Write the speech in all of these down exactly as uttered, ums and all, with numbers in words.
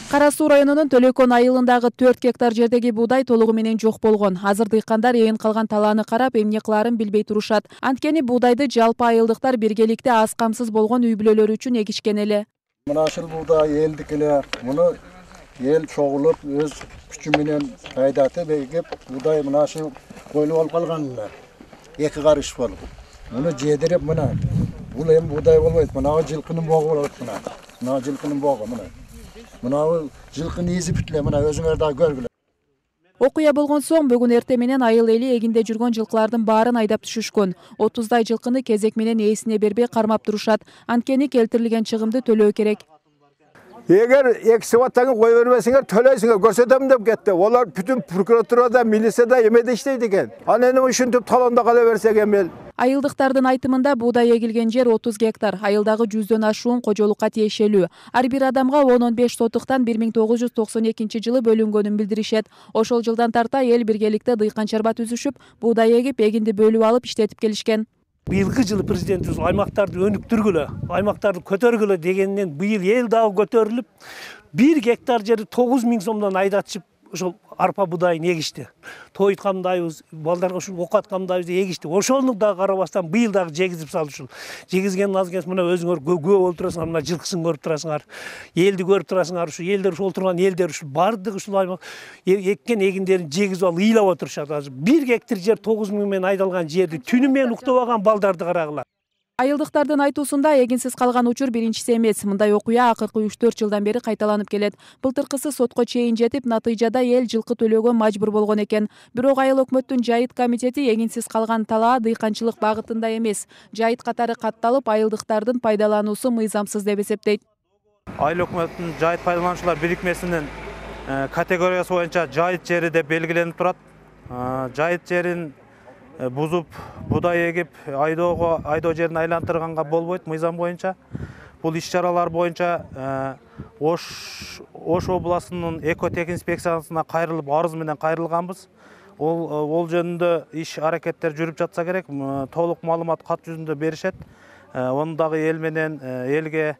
Кара Суу районунун Төлөкөн айылындагы төрт гектар жердеги буудай толугу менен жок болгон. Азыр дыйкандар ээн калган талааны карап, эмне кылаарын билбей турушат. Анткени буудайды жалпы айылдыктар биргеликте аз камсыз болгон үй бүлөлөр үчүн эгишкен эле. Мына ушул буудай элдик эле. Муну эл чогулуп өз күчү менен пайдатып эгип, буудай мына ушул койлуп алып калган эле. Эки карыш болуп. Муну жедирип мына бул эми буудай болбойт. Мына жылкынын богу болот мына. Мына жылкынын богу мына. Мына жылкын изи бүтлө мына өзүңөр да көргүлө. Окуя болгон соң бүгүн эрте менен айыл эли эгинде жүргөн жылкылардын баарын айдап түшүшкөн. отуздай жылкыны кезек менен ээсине бербей кармап турушат. Анткени келтирилген чыгымды төлөө керек. Эгер эки сабаттан кой бербесиңер төлөйсүңөр көрсөтөм деп кетти. Олар бүтүн прокуратурада, милицияда эмеде иштейт экен. Анан эми ушинтип талондо кала берсек эми. Айылдыктардын айтымында буудай эгилген жер отуз гектар, айылдагы жүздөн ашуун кожолукка тиешелүү. Ар бир адамга он он беш сотуктан бир миң тогуз жүз токсон экинчи жылы бөлүнгөнүн билдиришет. Ошол жылдан тарта эл биргеликте дыйкан чарба түзүшүп, буудай эгип, эгинди бөлүп алып иштетип келишкен. Быйылкы жылы президентибиз аймактарды өнүктүргүлө, аймактарды көтөргүлө дегенинен быйыл эл дагы көтөрүлүп, бир гектар жерди тогуз миң сомдон айдатышып, ошол арпа будайын эгишти. Той айткандайбыз, балдарга ушул ок аткандайбыз эгишти. Ошону дагы карабастан быйыл дагы жегизип салды ушул. Жегизген аз кес мына өзүңөр күбө болуп турасыңар, мына жылкысын көрүп турасыңар. Элди көрүп турасыңар, ушул элдер ушул отурган элдер ушул бардык ушул аймак эккен эгиндерин жегизип алып ыйлап отурушат азыр. бир гектар жер тогуз миң менен айдалган жерди түнү менен уктабаган балдарды карагыла. Айылдыктардын айтуусунда эгинсиз калган учур биринчиси эмес. Мындай окуя акыркы үч төрт жылдан бери кайталанып келет. Былтыркысы сотко чейин жетип, натыйжада эл жылкы төлөөгө мажбур болгон экен. Бирок айыл өкмөттүн жайыт комитети эгинсиз калган талаа дыйканчылык багытында эмес, жайыт катары катталып, айылдыктардын пайдалануусу мыйзамсыз деп эсептейт. Айыл өкмөттүн жайыт пайдалануучулар бирикмесинин категориясы боюнча жайыт жери деп белгиленип турат. Жайыт жерин бузуп, буудай эгип, айдоого, айдоо жерин айлантырганга болбойт мыйзам боюнча. Бул иш-чаралар боюнча Ош Ош областынын экотек инспекциясына кайрылып, арыз менен кайрылганбыз. Ол ол жөнүндө иш аракеттер жүрүп жатса керек, толук маалымат кат жүзүндө беришет. Ону дагы эл менен элге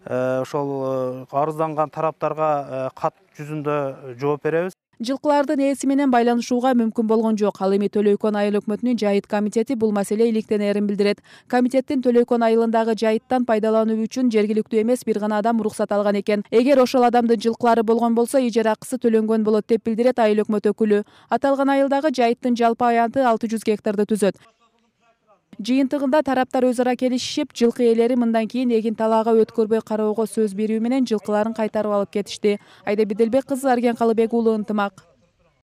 ошол арызданган тараптарга кат жүзүндө жооп беребиз. Жылкылардын ээси менен байланышууга мүмкүн болгон жок. Ал эми Төлөкөн айыл өкмөтүнүн жайыт комитети бул маселе иликтенерин билдирет. Комитеттин Төлөкөн айылындагы жайыттан пайдалануу үчүн жергиликтүү эмес бир гана адам уруксат алган экен. Эгер ошол адамдын жылкылары болгон болсо, ижара акысы төлөнгөн болот деп билдирет айыл өкмөт өкүлү. Аталган айылдагы жайыттын жалпы аянты алты жүз гектарды түзөт. Жыйынтыгында тараптар өз ара келишишип, жылкы ээлери мындан кийин эгин талаага өткөрбөй кароого сөз берүү менен жылкыларын кайтарып алып кетишти. Айда Беделбек кызы, Арген Калыбек уулу, Ынтымак.